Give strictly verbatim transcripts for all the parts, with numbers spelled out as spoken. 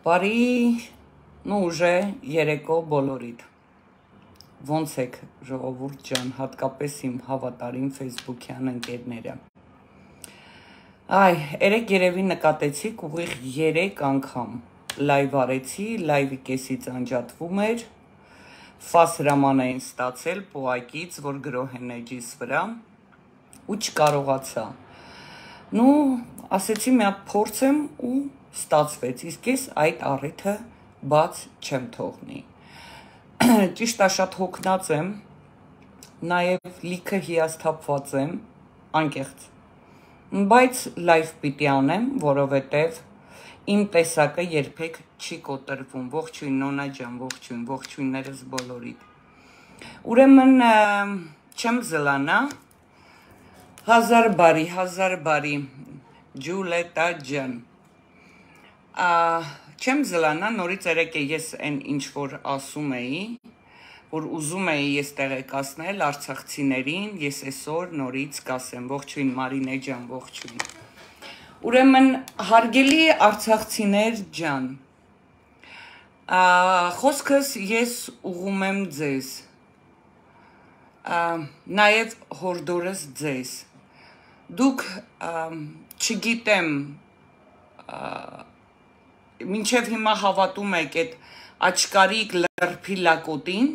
Բարի, ну уже երեկո բոլորիդ։ Ոնց եք ժողովուրդ ջան, հատկապես իմ հավատարիմ Facebook-յան ընկերները։ Այ, երեք երևի նկատեցիք ուղիղ երեք անգամ լայվ արեցի, լայվի կեսից անջատվում էր, ֆաս հրաման էին ստացել պոակից, որ գրոհ են էջիս վրա, ու չկարողացա։ Ну, ասեցի մի հատ փորձեմ ու ստացվեց, իսկ ես այդ առիթը բաց չեմ թողնի։ Ճիշտ է, շատ հոգնած եմ, նաև լիքը հիասթափված եմ, անկեղծ, բայց լայվ պիտի անեմ, որովհետև իմ տեսակը երբեք չի կոտրվում, ողջույն նոնա ջան, ողջույն, ողջույններս բոլորիդ։ Ուրեմն չեմ զլանա, հազար բարի, հազար բարի, Ջուլետա ջան։ Չեմ զլանա, նորից երեկ է ես այն ինչ որ ասում էի, որ ուզում էի ես տեղեկացնել արցախցիներին, ես այսօր նորից կասեմ, ողջույն Մարինե ջան, ողջույն։ Ուրեմն հարգելի արցախցիներ ջան, խոսքս ես ուղում եմ ձեզ, նաև հորդորս ձեզ, դուք չգիտեմ, մինչև հիմա հավատում եք այդ աչկարիկ լրփի լակոտին,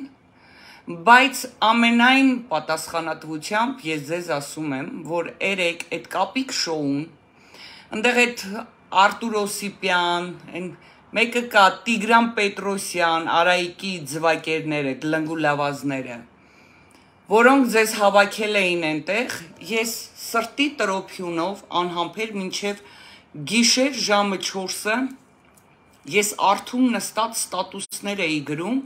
բայց ամենայն պատասխանատվությամբ ես ձեզ ասում եմ, որ երեք այդ կապիկ շոուն, ընդեղ այդ Արտուր Օսիպյան, մեկը կա Տիգրան Պետրոսյան, Արայիկի ձվակերները, այդ լնգուլավազները, որոնք ձեզ հավաքել էին այնտեղ, ես սրտի տրոփյունով անհամբեր մինչև գիշեր ժամը չորսը ես արթուն նստած ստատուսներ էի գրում,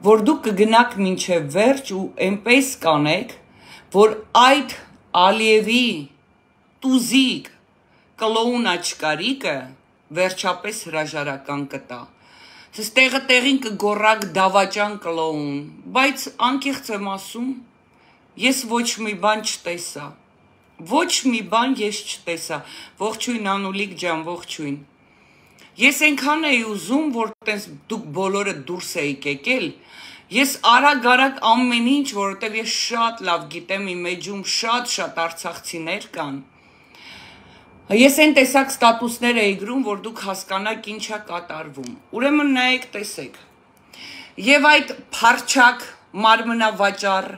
որ դուք կգնաք մինչև վերջ ու այնպես կանեք, որ այդ Ալիևի տուզիկ կլոուն աչկարիկը վերջապես հրաժարական կտա։ Սես տեղը տեղին կգորակ դավաճան կլոուն, բայց անկեղծ եմ ասում, ես ոչ մի բան չտեսա, ոչ մի բան ես չտեսա, ողջույն Անուլիկ ջան, ողջույն։ Ես այնքան էի ուզում, որ տես դուք բոլորը դուրս էիք եկել, ես արագ-արագ ամեն ինչ, որովհետև ես շատ լավ գիտեմ իմ էջում շատ-շատ արցախցիներ կան։ Ես այն տեսակ ստատուսներ էի գրում, որ դուք հասկանաք ինչ է կատարվում։ Ուրեմն նայեք, տեսեք։ Եվ այդ փարչակ մարմնավաճառ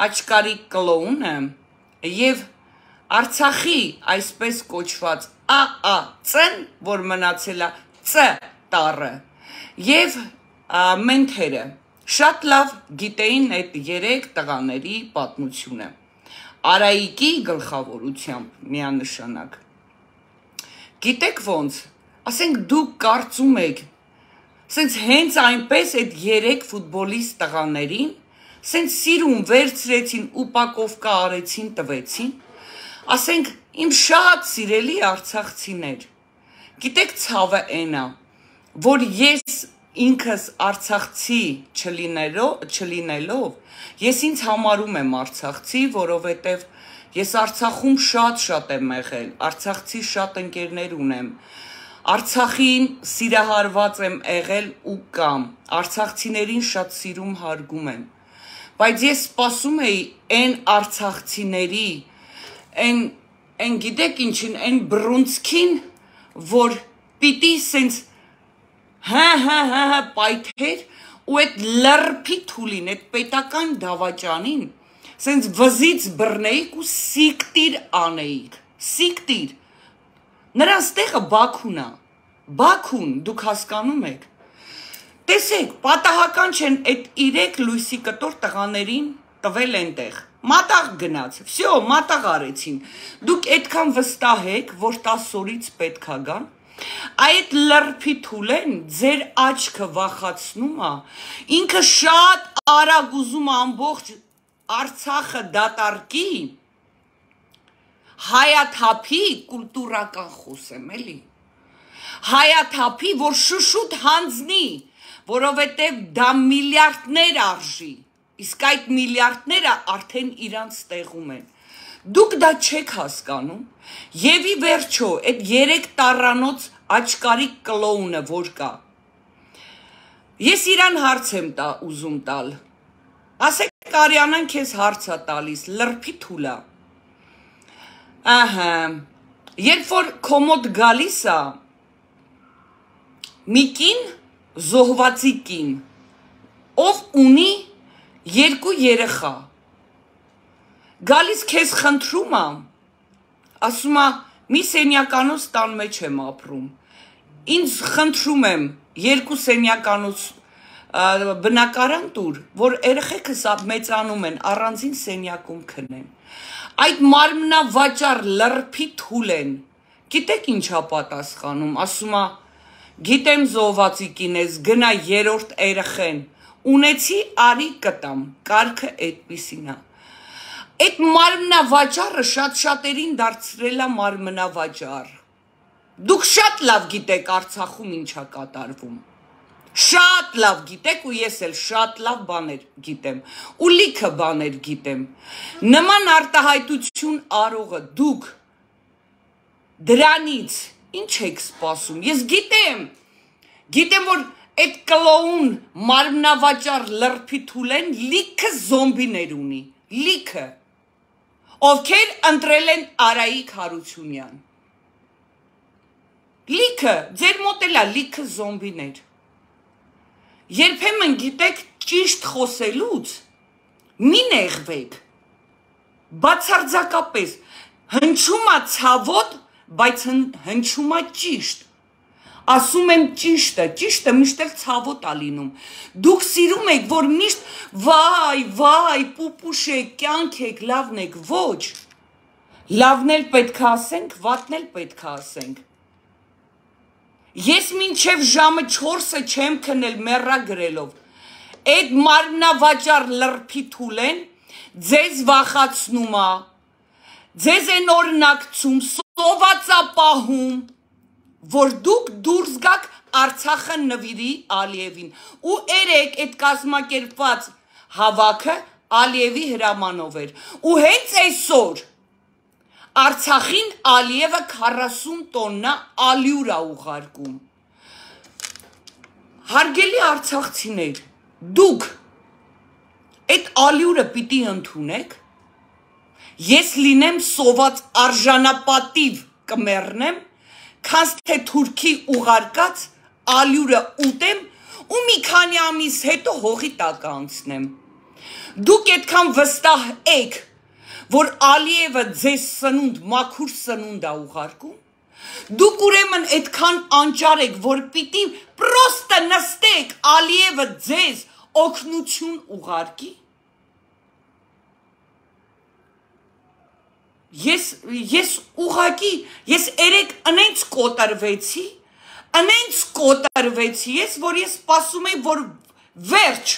աչկարիկ կլոունը եւ Արցախի այսպես կոչված ԱԱՑ-ն, որ մնացել է Ց տառը, եւ մենթերը շատ լավ գիտեին այդ երեք տղաների պատմությունը։ Արայիկի գլխավորությամբ միանշանակ։ Գիտեք ոնց, ասենք դուք կարծում եք, սենց հենց այնպես այդ երեք ֆուտբոլիստ տղաներին, սենց սիրուն վերցրեցին, ուպակովկա արեցին, տվեցին, ասենք իմ շատ սիրելի արցախցիներ, գիտեք ցավը այնա, որ ես ինքս արցախցի չլինելով, ես ինձ համարում եմ արցախցի, որովհետև ես Արցախում շատ-շատ եմ եղել, արցախցի շատ ընկերներ ունեմ, Արցախին սիրահարված եմ եղել ու կամ, արցախցիներին շատ սիրում հարգում եմ, բայց ես սպասում էի այն արցախցիների, այն գիտեք ինչին, այն բռունցքին, որ պիտի սենց հա հա հա հա պայթեր ու այդ լրփի թուլին, այդ պետական դավաճանին, սենց վզից բռնեիք ու սիկտիր անեիք, սիկտիր, նրանց տեղը Բաքուն է, Բաքուն, դուք հասկանում եք, տեսեք, պատահական չեն այդ իրեք լույսի կտոր տղաներին տվել ենտեղ, մատաղ գնաց, վсё, մատաղ արեցին, դուք այդքան վստահ եք, որ տասը օրից պետք է գան, այդ լրփի թուլեն ձեր աչքը վախացնում է, ինքը շատ արագ ուզում ամբողջ Արցախը դատարկի, հայաթափի, կուլտուրական խոսեմ էլի, հայաթափի, որ շուշուտ հանձնի, որովհետև դա միլիարդներ արժի, իսկ այդ միլիարդները արդեն իրանց տեղում են, դուք դա չեք հասկանում, եւ ի վերջո, այդ երեք տառանոց աչկարի կլոունը որ կա։ Ես իրան հարց եմ տա ուզում տալ։ Ասեք Արիանան քեզ հարց է տալիս, լրփի թուլա։ Ահա, երբ որ կոմոդ գալիս է, մի կին, զոհվածի կին, ով ունի երկու երեխա, գալիս քեզ խնդրում է, ասում է, մի սենյականոց տան մեջ եմ ապրում, ինձ խնդրում եմ, երկու սենյականոց բնակարան տուր, որ երեխեքս մեծանում են, առանձին սենյակում քնեն։ Այդ մարմնավաճառ լրփի թուլ են, գիտեք ինչա պատասխանում, ասում է, գիտեմ զոհվածի կին ես, գնա երրորդ երեխեն, ունեցի արի կտամ, կարգը այդպիսին է։ Այդ մարմնավաճառը շատ շատերին դարձրել է մարմնավաճառ։ Դուք շատ լավ գիտեք Արցախում ինչա կատարվում։ Շատ լավ գիտեք ու ես էլ շատ լավ բաներ գիտեմ, ու լիքը բաներ գիտեմ։ Նման արտահայտություն արողը դուք դրանից ինչ եք սպասում։ Ես գիտեմ, գիտեմ, որ այդ կլոուն մարմնավաճառ լրփի թուլեն լիքը զոմբիներ ունի, լիքը, ովքեր ընտրել են Արայիկ Հարությունյան։ Լիքը, ձեր մոտ էլ է լիքը զոմբիներ։ Երբեմն գիտեք ճիշտ խոսելուց մի նեղվեք, բացարձակապես հնչում է ցավոտ, բայց հնչում է ճիշտ, ասում եմ ճիշտը, ճիշտը միշտ էլ ցավոտ է լինում, դուք սիրում եք, որ միշտ վայ, վայ, պուպուշ եք, կյանք եք, լավն եք, ոչ, լավն էլ պետք է ասենք, վատն էլ պետք է ասենք։ Ես մինչև ժամը չորսը չեմ քնել մեռա գրելով, այդ մարմնավաճառ լրփի թուլեն ձեզ վախացնում է, ձեզ են օրինակցում, սովածապահում, որ դուք դուրս գաք Արցախը նվիրի Ալիևին, ու երեք այդ կազմակերպված հավաքը Ալիևի հրամանով էր, ու հենց այսօր Արցախին Ալիևը քառասուն տոննա ալյուր է ուղարկում։ Հարգելի արցախցիներ, դուք այդ ալյուրը պիտի ընդունեք, ես լինեմ սոված արժանապատիվ կմեռնեմ, քանց թե թուրքի ուղարկած ալյուրը ուտեմ ու մի քանի ամիս հետո հողի տակ անցնեմ։ Դուք այդքան վստահ եք, որ Ալիևը ձեզ սնունդ, մաքուր սնունդ է ուղարկում, դուք ուրեմն այդքան անճար եք, որ պիտի պրոստը նստեք Ալիևը ձեզ օգնություն ուղարկի։ Ես, ես ուղակի, ես երեք ընենց կոտրվեցի, ընենց կոտրվեցի ես, որ ես սպասում եմ, որ վերջ,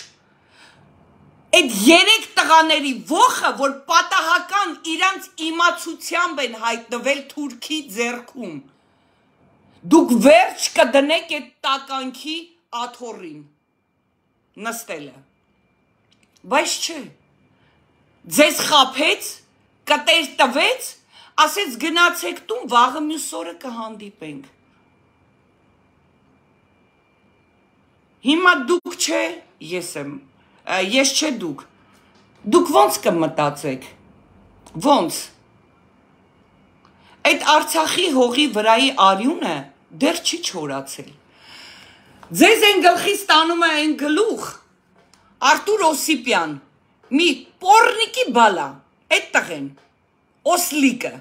այդ երեք տղաների ոխը, որ պատահական իրանց իմացությամբ են հայտնվել թուրքի ձեռքում, դուք վերջ կդնեք այդ տականքի աթոռին, նստելը, բայց չէ, ձեզ խաբեց, կտեր տվեց, ասեց գնացեք տուն, վաղը մյուս օրը կհանդիպենք։ Հիմա դուք չէ, ես եմ, ես չէ դուք, դուք ոնց կմտածեք, ոնց, այդ Արցախի հողի վրայի արյունը դեռ չի չորացել, ձեզ են գլխից տանում է են գլուխ, Արտուր Օսիպյան, մի պորնիկի բալա, այդ տղեն, Օսլիկը,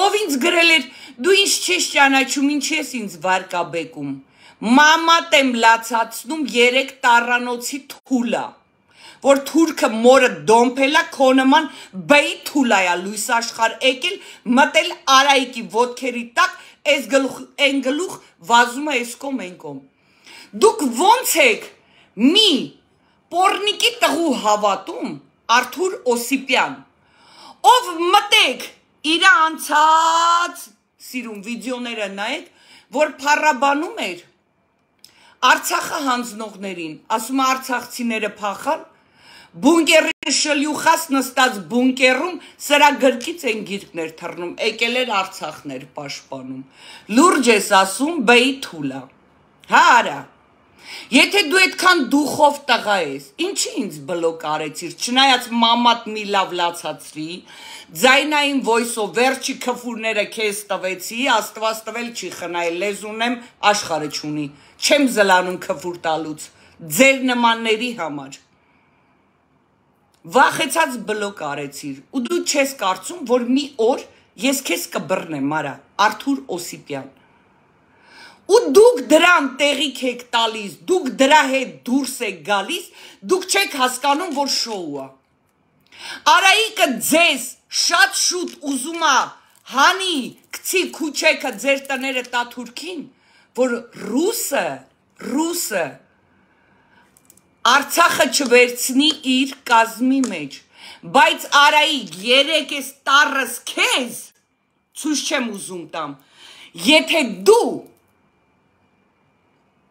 ով ինձ գրել էր, դու ինձ չես ճանաչում, ինչ ես ինձ վարկաբեկում, մամատ եմ լացացնում երեք տառանոցի թուլա, որ թուրքը մորը դոմփելա քո նման բեի թուլայա լույս աշխարհ եկել, մտել Արայիկի ոտքերի տակ, այս գլուխ, այն գլուխ վազում է այս կողմ այն կողմ։ Դուք ոնց եք մի պորնիկի տղու հավատում Արթուր Օսիպյան, ով մտեք իր անցած սիրուն վիդեոները նայեք, որ փառաբանում էր Արցախը հանձնողներին, ասում է արցախցիները փախան, բունկերի շլյուխաս նստած բունկերում սրա գրքից են գիրքներ թռնում, եկել էր Արցախներ պաշտպանում։ Լուրջ ես ասում, բեի թուլա։ Հա արա։ Եթե դու այդքան դուխով տղա ես, ինչի ինձ բլոկ արեցիր, չնայած մամատ մի լավ լացացրի, ձայնային voice-ով վերջի քֆուրները քեզ տվեցի, Աստված տվել չի խնայել, լեզ ունեմ, աշխարհը չունի, չեմ զլանում քֆուր տալուց, ձեր նմանների համար։ Վախեցած բլոկ արեցիր, ու դու չես կարծում, որ մի օր ես քեզ կբռնեմ, արա, Արթուր Օսիպյան։ Ու դուք դրան տեղիք եք տալիս, դուք դրա հետ դուրս եք գալիս, դուք չեք հասկանում, որ շոու է։ Արայիկը ձեզ շատ շուտ ուզում է հանի, գցի քուչեքը ձեր տները տա Թուրքին, որ ռուսը, ռուսը Արցախը չվերցնի իր կազմի մեջ, բայց Արայիկ երեք ես տառս քեզ, ցույց չեմ ուզում տամ, եթե դու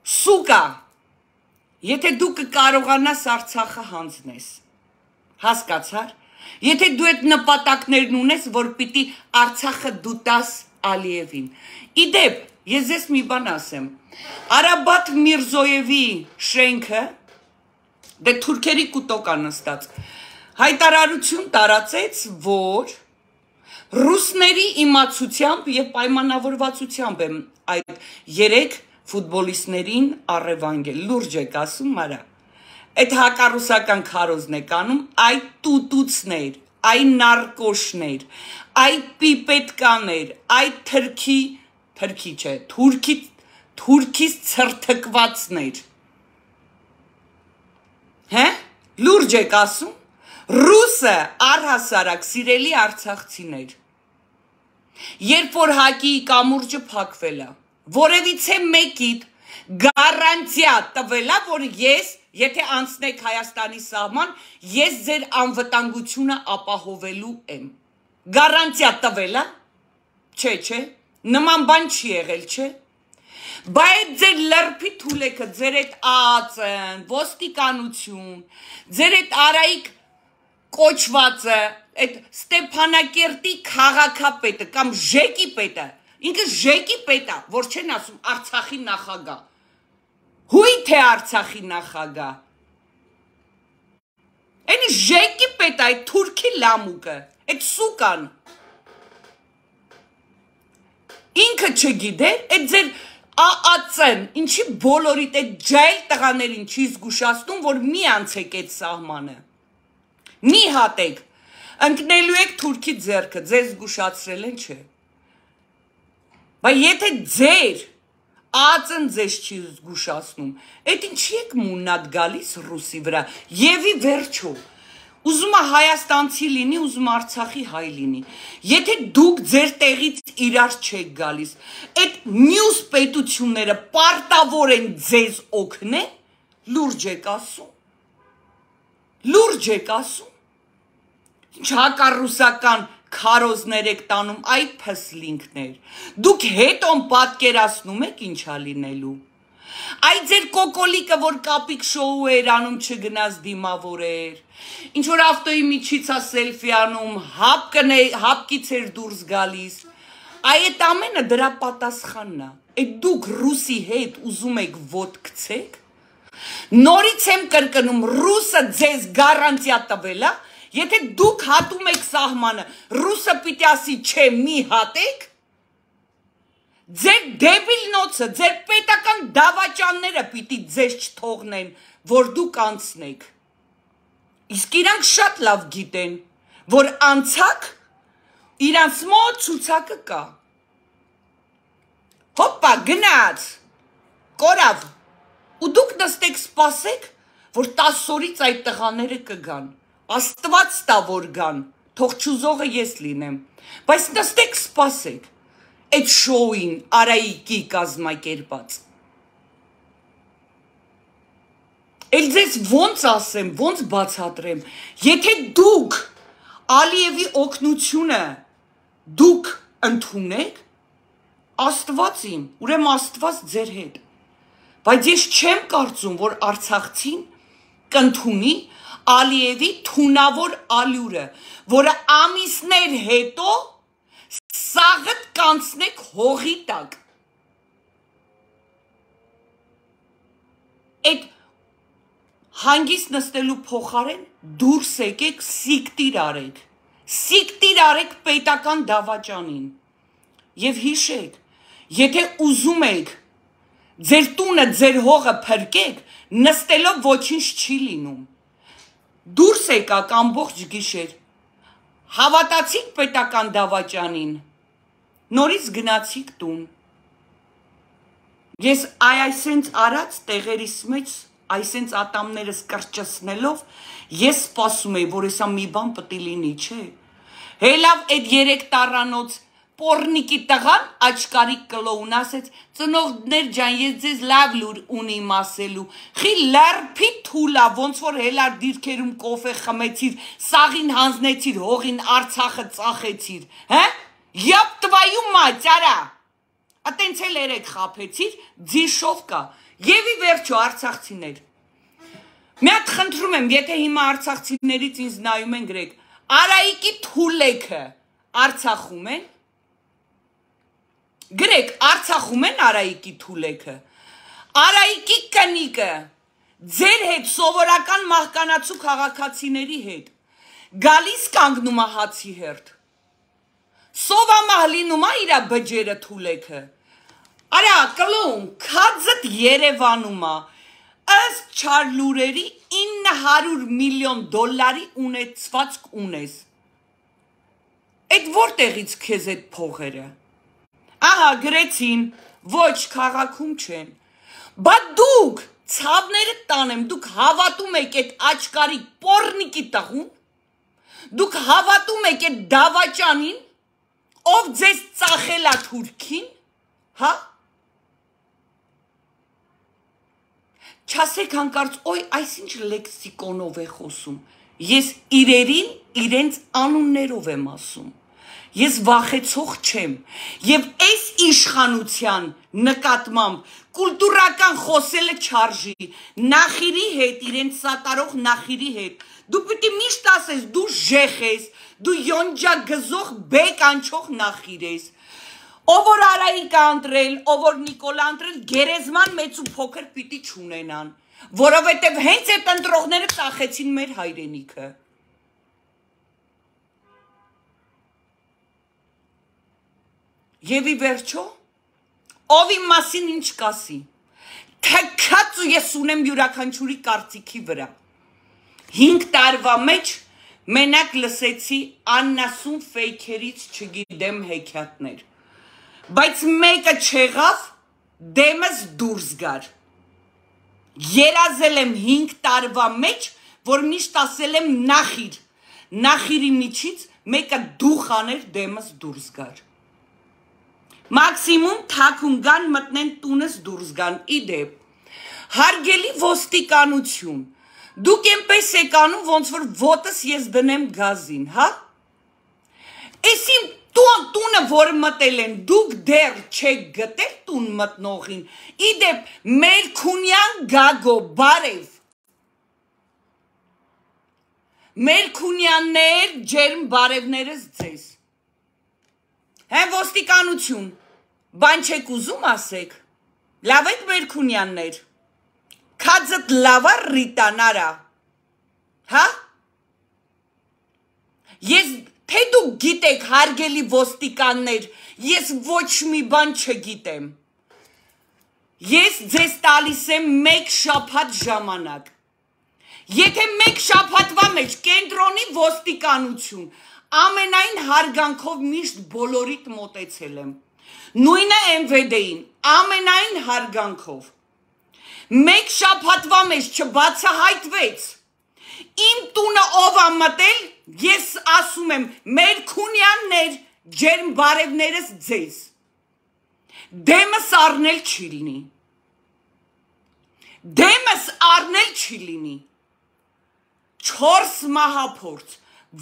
Սուկա, եթե դու կկարողանաս Արցախը հանձնես, հասկացար, եթե դու այդ նպատակներն ունես, որ պիտի Արցախը դու տաս Ալիևին, իդեպ, ես ես մի բան ասեմ, Արաբատ Միրզոևի շենքը, դե թուրքերի կուտոկ անստած, հայտարարություն տարածեց, որ ռուսների իմացությամբ և պայմանավորվածությամբ եմ այդ երեք ֆուտբոլիստներին առևանգել, լուրջ եք ասում, արա, այդ հակառուսական քարոզն եք անում, այ տուտուցներ, այ նարկոշներ, այ պիպետկաներ, այ թրքի, թրքի չէ, թուրքի, թուրքից ցրթկվածներ, հե, լուրջ եք ասում, ռուսը առհասարակ սիրելի արցախցիներ, երբ որ հակի կամուրջը փակվել է, որևիցե մեկիդ գարանտիա տվելա, որ ես, եթե անցնեք Հայաստանի սահման, ես ձեր անվտանգությունը ապահովելու եմ։ Գարանտիա տվելա, չէ, չէ, նման բան չի եղել, չէ։ Բայց ձեր լրբի թուլեքը, ձեր այդ ԱԱԾ-ն, ոստիկանություն, ձեր այդ Արայիկ կոչվածը, այդ Ստեփանակերտի քաղաքապետը կամ Ժեկի պետը, ինքը Ժեկի պետ է, որ չեն ասում Արցախի նախագահ, հույթ է Արցախի նախագահ, այն Ժեկի պետ է, այդ թուրքի լամուկը, այդ սուկան, ինքը չգիտեր, այդ ձեր ԱԱԾ-ն, ինչի բոլորիդ այդ ջայլ տղաներին չի զգուշացնում, որ մի անցեք այդ սահմանը, մի հատեք, ընկնելու եք թուրքի ձեռքը, ձեզ զգուշացրել են չէ, բայց եթե ձեր ԱԱԾ-ն ձեզ չի զգուշացնում, այդ ինչի եք մուննատ գալիս ռուսի վրա, եւի վերջո, ուզում է Հայաստանցի լինի, ուզում Արցախի հայ լինի, եթե դուք ձեր տեղից իրար չեք գալիս, այդ մյուս պետությունները պարտավոր են ձեզ օգնեն, լուրջ եք ասում, լուրջ եք ասում, ինչ հակառուսական քարոզներ եք տանում, այ փսլինքներ, դուք հետոն պատկերացնում եք ինչա լինելու, այ ձեր կոկոլիկը, որ կապիկ շոու էր անում չգնաց դիմավորեր, ինչ որ ավտոյի միջից է սելֆի անում, հապկից էր դուրս գալիս, այ այդ ամենը դրա պատասխանն է, այդ դուք ռուսի հետ ուզում եք ոտ գցեք, նորից եմ կրկնում, ռուսը ձեզ գարանտիա տվել է, եթե դուք հատում եք սահմանը, ռուսը պիտի ասի չէ մի հատեք, ձեր դեբիլ նոցը, ձեր պետական դավաճանները պիտի ձեզ չթողնեն, որ դուք անցնեք, իսկ իրանք շատ լավ գիտեն, որ անցակ, իրանց մոտ ցուցակը կա, հոպա գնաց, կորավ, ու դուք նստեք սպասեք, որ տասը օրից այդ տղաները կգան, Աստված տա որ գան, թող չուզողը ես լինեմ, բայց նստեք սպասեք, այդ շոուին Արայիկի կազմակերպած։ Էլ ձեզ ոնց ասեմ, ոնց բացատրեմ, եթե դուք Ալիևի օգնությունը դուք ընդունեք, Աստված իմ, ուրեմն Աստված ձեր հետ, բայց ես չեմ կարծում, որ Արցախցին կընդունի Ալիևի թունավոր ալյուրը, որը ամիսներ հետո սաղդ կանցնեք հողի տակ։ Այդ հանգիստ նստելու փոխարեն դուրս եկեք սիկտիր արեք, սիկտիր արեք պետական դավաճանին և հիշեք, եթե ուզում եք ձեր տունը, ձեր հողը փրկեք, նստելով ոչինչ չի լինում, դուրս եկաք ամբողջ գիշեր, հավատացիք պետական դավաճանին, նորից գնացիք տուն, ես այ այսենց արած տեղերիս մեջ, այսենց ատամներս կրճսնելով, ես սպասում եի, որ եսա մի բան պտի լինի, չէ, հելավ այդ երեք տառանոց պորնիկի տղան աչկարիկ կլոուն ասեց, ծնողներ ջան, ես ձեզ լավ լուր ունիմ ասելու, խի լարփի թուլա, ոնց որ հելար դիրքերում կոֆե խմեցիր, սաղին հանձնեցիր, հողին Արցախը ծախեցիր, հե, յապ տվայու մաց, արա, ատենց էլ երեք խապեցիր, ձիշով կա, և ի վերջո արցախցիներ, մի հատ խնդրում եմ, եթե հիմա արցախցիներից ինձ նայում են գրեք, Արայիկի թուլեքը Արցախում են, գրեք, Արցախում են Արայիկի թուլեքը, Արայիկի կնիկը, ձեր հետ սովորական մահկանացու քաղաքացիների հետ, գալիս կանգնում է հացի հերթ, սովամահ լինում է իրա բջերը թուլեքը, արա կլոուն, քածդ Երևանում է, ըստ չար լուրերի ինը հարյուր միլիոն դոլարի ունեցվածք ունես, այդ որտեղից քեզ այդ փողերը, ահա գրեցին, ոչ քաղաքում չեն, բա դուք ցավները տանեմ, դուք հավատում եք այդ աչկարի պորնիկի տղուն, դուք հավատում եք այդ դավաճանին, ով ձեզ ծախել է թուրքին, հա, չասեք հանկարծ, ոյ, այսինչ լեքսիկոնով է խոսում, ես իրերին իրենց անուններով եմ ասում, ես վախեցող չեմ, և այս իշխանության նկատմամբ կուլտուրական խոսելը չարժի, նախիրի հետ, իրենց սատարող նախիրի հետ, դու պիտի միշտ ասես, դու ժեխ ես, դու յոնջա գզող բեկ անչող նախիր ես, ով որ Արայիկ անտրել, ով որ Նիկոլ անտրել, գերեզման մեծ ու փոքր պիտի չունենան, որովհետև հենց այդ ընտրողները ծախեցին մեր հայրենիքը։ Եվ ի վերջո, ով իմ մասին ինչ կասի, թքած ու ես ունեմ յուրաքանչյուրի կարծիքի վրա։ Հինգ տարվա մեջ մենակ լսեցի աննասուն ֆեյքերից չգիտեմ հեքիաթներ, բայց մեկը չեղավ, դեմս դուրս գար։ Երազել եմ հինգ տարվա մեջ, որ միշտ ասել եմ նախիր, նախիրի միջից մեկը դուխ աներ դեմս դուրս գար։ Մաքսիմում թաքուն գան մտնեն տունս դուրս գան, իդեպ, հարգելի ոստիկանություն, դուք էնպես եք անում, ոնց որ ոտս ես դնեմ գազին, հա? Էս իմ տունը, որ մտել են, դուք դեռ չեք գտել տուն մտնողին, իդեպ Մերքունյան Գագո, բարև, Մերքունյաններ, ջերմ բարևներս ձեզ, հե ոստիկանություն, բան չեք ուզում ասեք, լավ եք Մերքունյաններ, քածդ լավա Ռիտան արա, հա? Ես թե դուք գիտեք հարգելի ոստիկաններ, ես ոչ մի բան չգիտեմ, ես ձեզ տալիս եմ մեկ շաբաթ ժամանակ, եթե մեկ շաբաթվա մեջ կենտրոնի ոստիկանություն, ամենայն հարգանքով միշտ բոլորիդ մոտեցել եմ, նույնը Էմ Վե Դեին, ամենայն հարգանքով, մեկ շաբաթվա մեջ չբացահայտվեց, իմ տունը ով ա մտել, ես ասում եմ, Մերքունյաններ, ջերմ բարևներս ձեզ, դեմս առնել չի լինի, դեմս առնել չի լինի, չորս մահափորձ,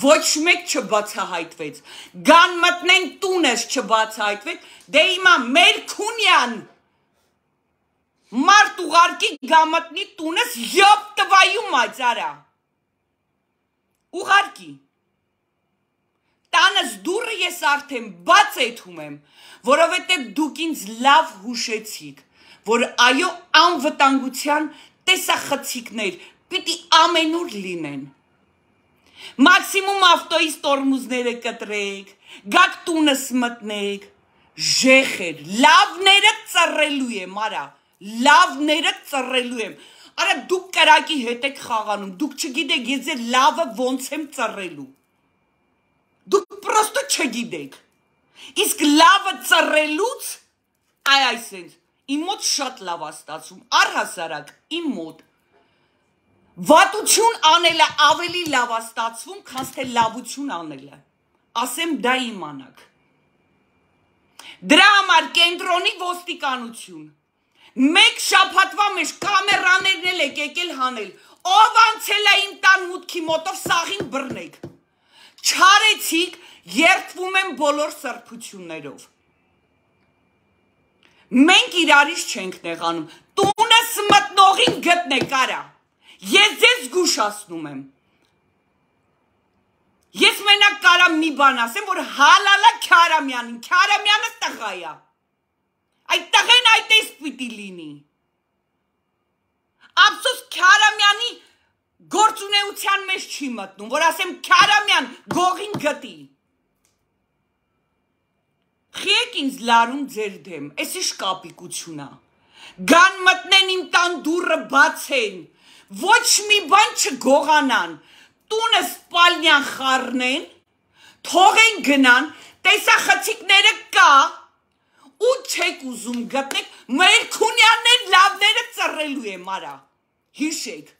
ոչ մեկ չբացահայտվեց, գան մտնեն տունս չբացահայտվեց, դե իմա Մերքունյան, մարդ ուղարկի գամտնի տունս յոպ տվայու մաձարա, ուղարկի։ Տանս դուրը ես արդեն բաց էթում եմ, որովհետև դուք ինձ լավ հուշեցիք, որ այո անվտանգության տեսախցիկներ պիտի ամենուր լինեն։ Մաքսիմում ավտոյից տորմուզները կտրեք, գաք տունս մտնեք, ժեխեր, լավները ծռելու եմ, արա, լավները ծռելու եմ, արա դուք կրակի հետ եք խաղանում, դուք չգիտեք ես ձեր լավը ոնց եմ ծռելու, դուք պրոստը չգիտեք, իսկ լավը ծռելուց, այ այսենց, իմ մոտ շատ լավ է ստացվում, առհասարակ, իմ մոտ, վատություն անելը ավելի լավ է ստացվում, քան թե լավություն անելը, ասեմ դա իմանաք, դրա համար կենտրոնի ոստիկանություն, մեկ շաբաթվա մեջ կամերաներն էլ եք եկել հանել, ով անցել է իմ տան մուտքի մոտով սաղին բռնեք, չարեցիք, երդվում եմ բոլոր սրբություններով, մենք իրարից չենք նեղանում, տունս մտնողին գտնեք արա, ես ձեզ զգուշացնում եմ, ես մենակ կարամ մի բան ասեմ, որ հալալա Քարամյանին, Քարամյանը տղա է, այդ տղեն այդպես պիտի լինի, ափսոս Քարամյանի գործունեության մեջ չի մտնում, որ ասեմ Քարամյան գողին գտի, խիեք ինձ լարում ձեր դեմ, ես իշ կապիկություն է, գան մտնեն իմ տան դուրը բացեն, ոչ մի բան չգողանան, տունը սպալնյան խառնեն, թողեն գնան, տեսախցիկները կա, ու չեք ուզում գտնեք, մեր քունյաններ լավները ծռելու եմ արա, հիշեք,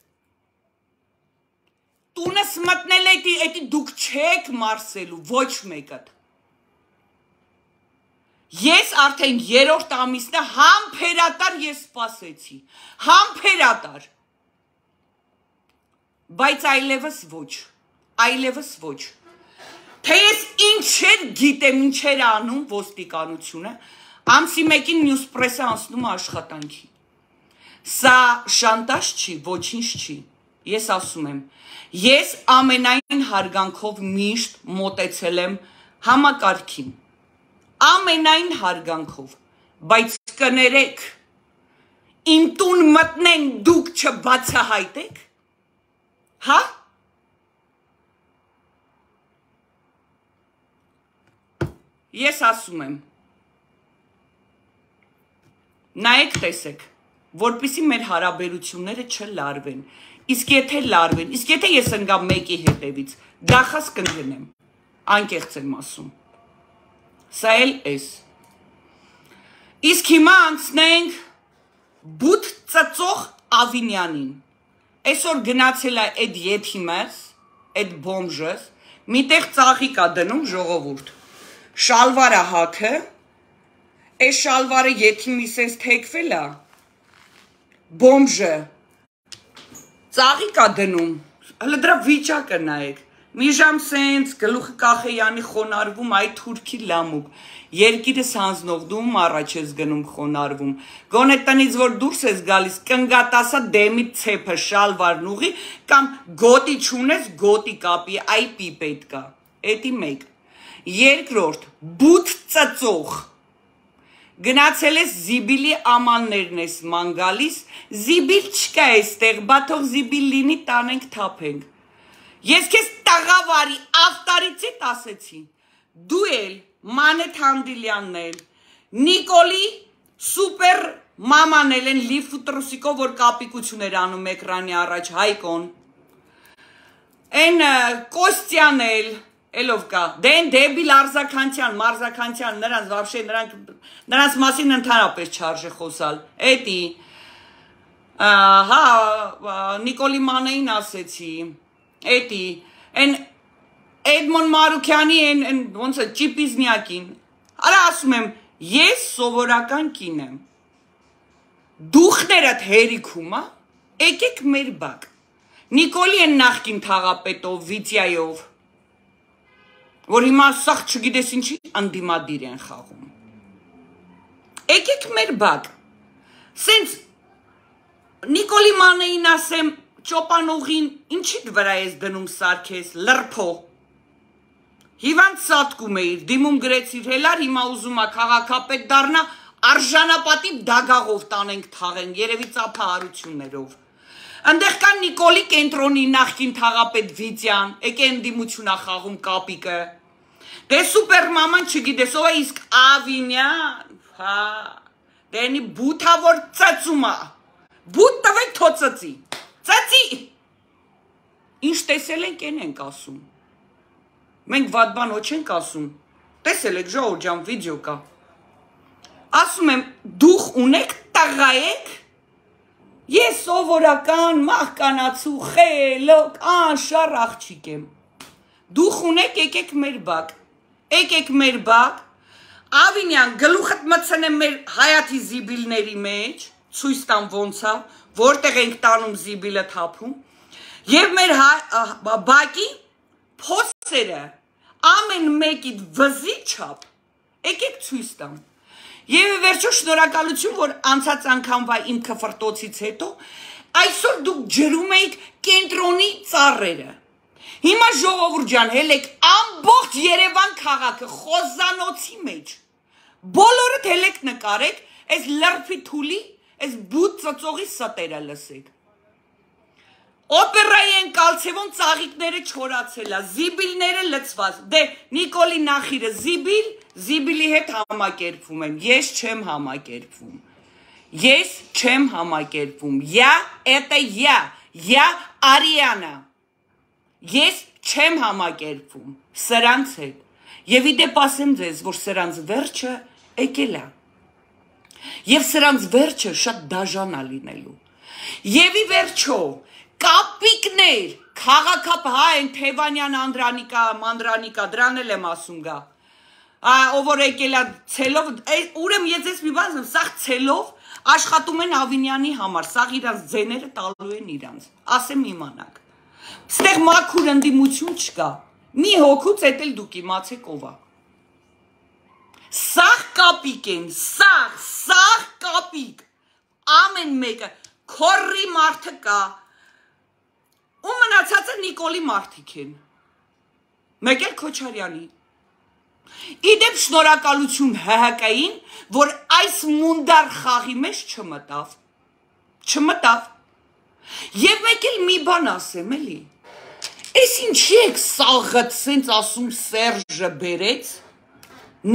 տունս մտնել էտի, էտի դուք չեք մարսելու, ոչ մեկըտ, ես արդեն երորդ ամիսն է համբերատար ես սպասեցի, համբերատար, բայց այլևս ոչ, այլևս ոչ, թե ես ինչեր գիտեմ, ինչեր անում ոստիկանությունը, ամսի մեկին նյուսպրեսը անցնում է աշխատանքի, սա շանտաժ չի, ոչինչ չի, ես ասում եմ, ես ամենայն հարգանքով միշտ մոտեցել եմ համակարգին, ամենայն հարգանքով, բայց կներեք, իմ տուն մտնեն դուք չբացահայտեք, հա? Ես ասում եմ, նայեք տեսեք, որպիսի մեր հարաբերությունները չլարվեն, իսկ եթե լարվեն, իսկ եթե ես ընգամ մեկի հետևից, գախած կընկնեմ, անկեղծ եմ ասում, սա էլ ես, իսկ հիմա անցնենք բութ ծծող Ավինյանին, այսօր գնացել է այդ եթիմս, այդ բոմժս, միտեղ ծաղիկ է դնում ժողովուրդ, շալվարը հաքը, այս շալվարը եթիմի սենց թեքվել է, բոմժը, ծաղիկ է դնում, հլը դրա վիճակը նայեք, մի ժամ սենց գլուխը կախեյանի խոնարվում այդ թուրքի լամուկ, երկիրս հանձնողդում առաջ ես գնում խոնարվում, գոնե տնից որ դուրս ես գալիս, կնգատասա դեմի ցեպը շալվարն ուղի, կամ գոտի չունես գոտի կապի, այպի պետք է, էտի մեկ, երկրորդ, բութ ծծող, գնացել ես զիբիլի ամաններն ես ման գալիս, զիբիլ չկա եստեղ, բա թող զիբիլ լինի տանենք թափենք, ես քեզ տաղավարի ավտարիցիտ ասեցի, դու էլ, Մանեթ Հանդիլյանն էլ, Նիկոլի սուպեր մաման էլ են լիվ ու տրուսիկով, որ կապիկություն էր անում էկրանի առաջ, Հայկոն, են Կոստյան էլ, Էլով կա, դեն դեբիլ Արզականցյան, Մարզականցյան, նրանց վաբշե, նրանց մասին ընդհանրապես չարժե խոսալ, էտի, հա, Նիկոլի Մանեին ասեցի, էտի, են Էդմոն Մարուքյանի են, ոնց է, Ճիպիզնյակին, արա ասում եմ, ես սովորական կին եմ, դուխներդ հերիքում, եկեք մեր բակ, Նիկոլի են նախկին թաղապետով, Վիծյայով, որ հիմա սաղ չգիտես ինչի անդիմադիր են խաղում, եկեք մեր բակ, սենց Նիկոլի Մանեին ասեմ, ճոպանողին ինչի վրա ես դնում սարքես, լրփո։ Հիվանդ սատկում էիր, դիմում գրեցիր հելար, հիմա ուզում է քաղաքապետ դառնա, արժանապատիվ դագաղով տանենք թաղեն, երևի ծափահարություններով։ Ընդեղ կան Նիկոլի կենտրոնի նախկին թաղապետ Վիտյան, եկե ընդդիմություն ա խաղում կապիկը։ Դե սուպեր մաման չգիտես, ով է իսկ Ավինյան, հա, դենի բութավոր ծծում ա, բութ տվեք թո ծծի, ծծի, ինչ տեսել ենք են ենք ասում, մենք վատ բան ոչ ենք ասում, տեսել եք ժողովուրդ ջան վիդեո կա, ասում եմ դուխ ունեք, տղա եք, ես սովորական մահկանացու խելոք անշար աղջիկ եմ, դուխ ունեք եկեք մեր բակ, եկեք մեր բակ, Ավինյան գլուխդ մտցնեմ մեր հայաթի զիբիլների մեջ, ցույց տամ ոնց է, որտեղ ենք տանում զիբիլը թափում, եւ մեր բակի փոսերը ամեն մեկիդ վզի չափ, եկեք ցույց տամ։ Եվ վերջո շնորհակալություն, որ անցած անգամվա իմ քֆրտոցից հետո այսօր դուք ջրում եք կենտրոնի ծառերը։ Հիմա ժողովուրդ ջան, հելեք ամբողջ Երևան քաղաքը խոզանոցի մեջ։ Բոլորդ հելեք նկարեք, այս լրփի թուլի, այս բութ ծծողի ստերը լսեք։ Օպերայի են կալցևոն ծաղիկները չորացել է, զիբիլները լցված։ Դե Նիկոլի նախիրը զիբիլ, զիբիլի հետ համակերպվում եմ, ես չեմ համակերպվում։ Ես չեմ համակերպվում։ Я это я, я Արիանա։ Ես չեմ համակերպվում սրանց հետ։ Եվ իդեպ ասեմ ձեզ, որ սրանց վերջը եկել է։ Եվ սրանց վերջը շատ դաժան է լինելու։ Եվ ի վերջո կապիկներ, քաղաքապ հա են Թևանյան Անդրանիկա, Մանդրանիկա, դրան էլ եմ ասում գա։ Ով որ եկել է ցելով, ուրեմն ես ես մի բան ասեմ, սաղ ցելով աշխատում են Ավինյանի համար, սաղ իրանց ձեները տալու են իրանց։ Ասեմ իմանաք։ Ստեղ մաքուր ընդդիմություն չկա։ Մի հոգուց էդ էլ դուք իմացեք ով է։ Սաղ կապիկ են, սաղ, սաղ կապիկ։ Ամեն մեկը քորի մարդը կա։ Ու մնացածը Նիկոլի մարդիկ են։ Մեկ էլ Քոչարյանի։ Իդեպ շնորհակալություն Հ Հ Կ-ին, որ այս մունդար խաղի մեջ չմտավ։ Չմտավ։ Եվ մեկ էլ մի բան ասեմ էլի։ Էս ինչի եք սաղըտ սենց ասում Սերժը բերեց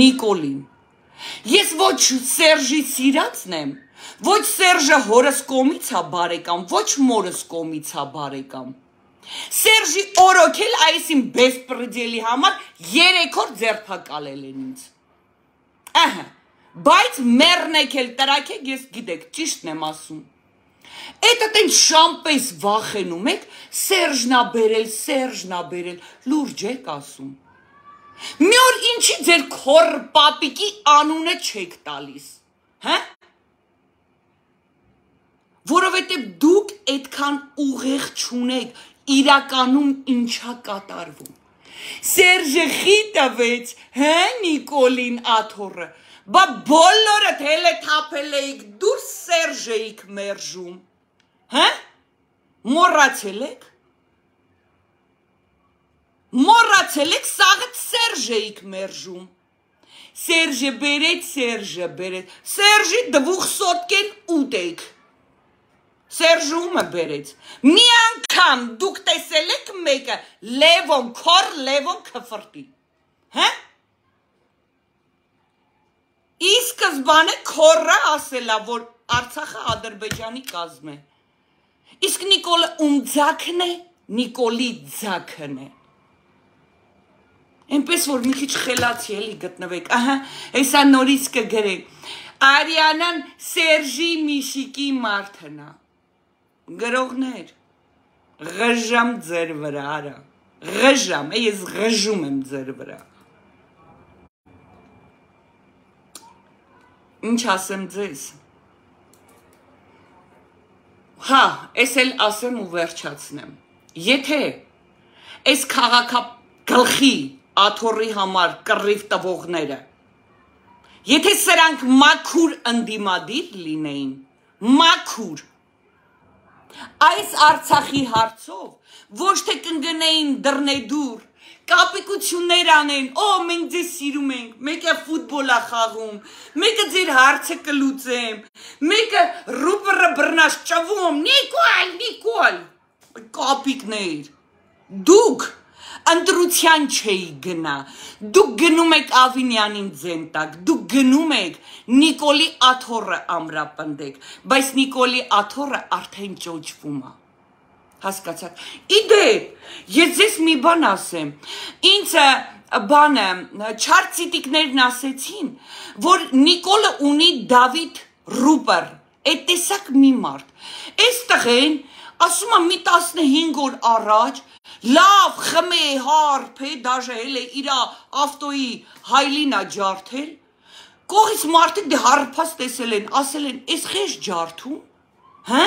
Նիկոլին։ Ես ոչ Սերժի սիրածն եմ, ոչ Սերժը հորս կողմից է բարեկամ, ոչ մորս կողմից է բարեկամ։ Սերժի օրոքել այսին բեսպրեդելի համար երեք օր ձերբակալել են ինձ։ Ահա, բայց մեռնեք էլ տրակեք, ես գիտեք, ճիշտն եմ ասում։ Էդ ատեն շամպես վախենում եք, Սերժն ա բերել, Սերժն ա բերել, լուրջ եք ասում։ Մի օր ինչի ձեր քոր պապիկի անունը չեք տալիս, հա? Որովհետև դուք այդքան ուղեղ չունեք, իրականում ինչա կատարվում։ Սերժը խիտավեց, հա Նիկոլին աթոռը, բա բոլորդ հել է թափել էիք, դուր Սերժ էիք մերժում, հա? Մոռացել եք։ Մոռացել եք, սաղդ Սերժ էիք մերժում։ Սերժը բերեց, Սերժը բերեց, Սերժի դվուխ սոտկեն ուտեք։ Սերժումը բերեց, մի անգամ դուք տեսել եք մեկը Լևոն, քոր Լևոն քֆրտի, հա? Ի սկզբանե քորը ասելա, որ Արցախը Ադրբեջանի կազմ է, իսկ Նիկոլը ում ձակն է, Նիկոլի ձակն է, այնպես որ մի քիչ խելացի էլի գտնվեք, ահա, հեսա նորից կգրեք, Արիանան Սերժի Միշիկի մարդն է, գրողներ, ղժամ ձեր վրա, արա, ղժամ, ես ղժում եմ ձեր վրա։ Ինչ ասեմ ձեզ։ Հա, ես էլ ասեմ ու վերջացնեմ։ Եթե այս քաղաքագլխի աթոռի համար կռիվ տվողները, եթե սրանք մաքուր ընդդիմադիր լինեին, մաքուր, այս Արցախի հարցով ոչ թե կընկնեին դռնեդուր, կապիկություններ անեն, օ, մենք ձեզ սիրում ենք, մեկը ֆուտբոլ է խաղում, մեկը ձեր հարցը կլուծեմ, մեկը ռուպերը բռնած ճվում, Նիկոլ, Նիկոլ, կապիկներ, դուք ընտրության չէի գնա, դուք գնում եք Ավինյանին ձեն տակ, դուք գնում եք Նիկոլի աթոռը ամրապնդեք, բայց Նիկոլի աթոռը արդեն ճոճվում է, հասկացաք, իդեպ, ես ձեզ մի բան ասեմ, ինձ բանը, չարցիտիկներն ասեցին, որ Նիկոլը ունի Դավիթ Ռուպեր, այդ տեսակ մի մարդ, այս տղեն, ասում եմ մի տասնհինգ օր առաջ, լավ խմե հարփ է, դաժե էլ է իրա ավտոյի հայլինա ջարդել, կողից մարդիկ դե հարփած տեսել են, ասել են, այս խես ջարդում, հը,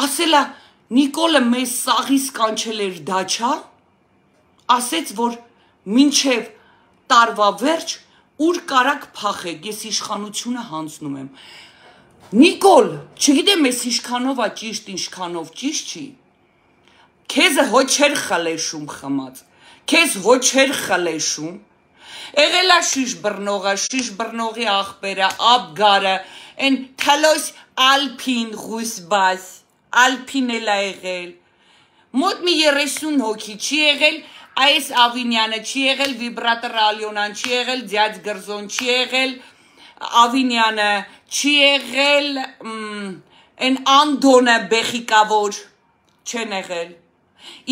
ասել է, Նիկոլը մեզ սաղից կանչել էր դաչա, ասեց, որ մինչև տարվա վերջ, ուր կարակ փախեք, ես իշխանությունը հանձնում եմ, Նիկոլ, չգիտեմ ես ինչքանով է ճիշտ, ինչքանով ճիշտ չի, քեզը հո չեր խլեշում խմած, քեզ հո չեր խլեշում, եղել է շիշ բռնողը, շիշ բռնողի աղբերը, աբգարը, են թլոս ալպին ղուսբաս, ալպին էլ է եղել, մոտ մի երեսուն հոգի չի եղել, այս Ավինյանը չի եղել, վիբրատոր Ալյոնան չի եղել, ձյաձ գրզոն չի եղել, Ավինյանը չի եղել, են Անդոնը բեխիկավոր չեն եղել,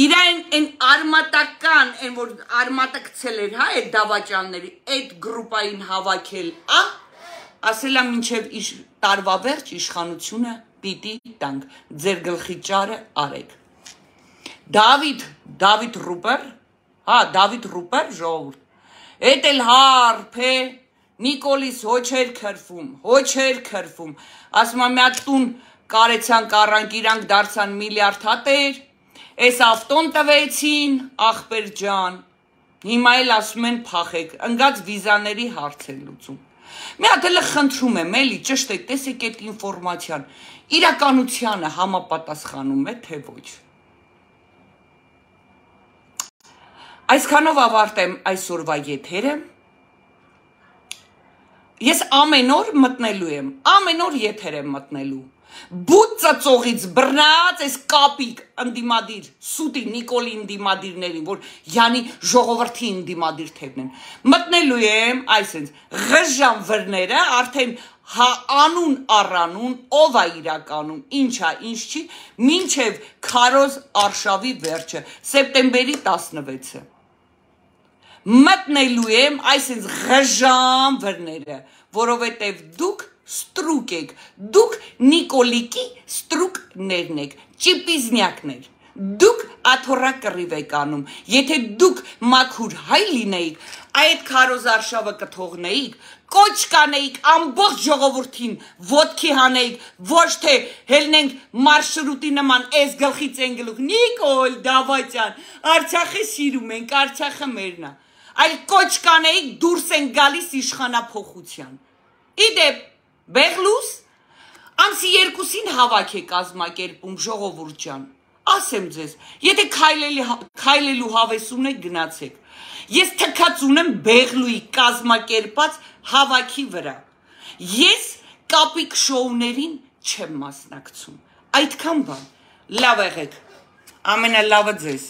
իրան են արմատական, են որ արմատը կցել էր, հա, այդ դավաճանների, այդ գրուպային հավաքել, ա, ասել է մինչև տարվա վերջ իշխանությունը պիտի տանք, ձեր գլխի ճարը արեք, Դավիթ, Դավիթ Ռուպեր, հա, Դավիթ Ռուպեր ժողովուրդ, էդ էլ հարփ է, Նիկոլիս հո չեր քրվում, հո չեր քրվում, ասում եմ մի հատ տուն կարեցան կառանք իրանք դարձան միլիարդ հատեր, այս ավտոն տվեցին, ախպեր ջան, հիմա էլ ասում են փախեք, ընկած վիզաների հարց են լուծում, մի հատ էլ խնդրում եմ, էլի ճշտեք, տեսեք այդ ինֆորմացիան, իրականությանը համապատասխանում է, թե ոչ, այսքանով ավարտեմ այսօրվա եթերը, ես ամեն օր մտնելու եմ, ամեն օր եթեր եմ մտնելու, բուտ ծծողից բռնած այս կապիկ ընդիմադիր, սուտի Նիկոլի ընդիմադիրներին, որ յանի ժողովրդի ընդիմադիր թևն են, մտնելու եմ, այսենց, ղժան վրները, արդեն հա անուն առանուն, ով է իրականում, ինչ է, ինչ չի, մինչև քարոզ արշավի վերջը, սեպտեմբերի տասնվեցը, մտնելու եմ այսինց ղժան վրները, որովհետև դուք ստրուկ եք, դուք Նիկոլիկի ստրուկներն եք, ճիպիզնյակներ, դուք աթոռա կռիվ եք անում, եթե դուք մաքուր հայ լինեիք, այդ քարոզ արշավը կթողնեիք, կոչ կանեիք ամբողջ ժողովրդին ոտքի հանեիք, ոչ թե հելնենք մարշրուտի նման այս գլխից են գլուխ, Նիկոլ Դավաճան, Արցախը սիրում ենք, Արցախը մերն է, այլ կոչ կանեիք դուրս են գալիս իշխանափոխության, իդեպ Բեղլուս, ամսի երկուսին հավաք է կազմակերպում ժողովուրդ ջան, ասեմ ձեզ, եթե քայլելու հավես ունեք գնացեք, ես թքած ունեմ Բեղլուի կազմակերպած հավաքի վրա, ես կապիկ շոուներին չեմ մասնակցում, այդքան բան, լավ եղեք, ամենալավը ձեզ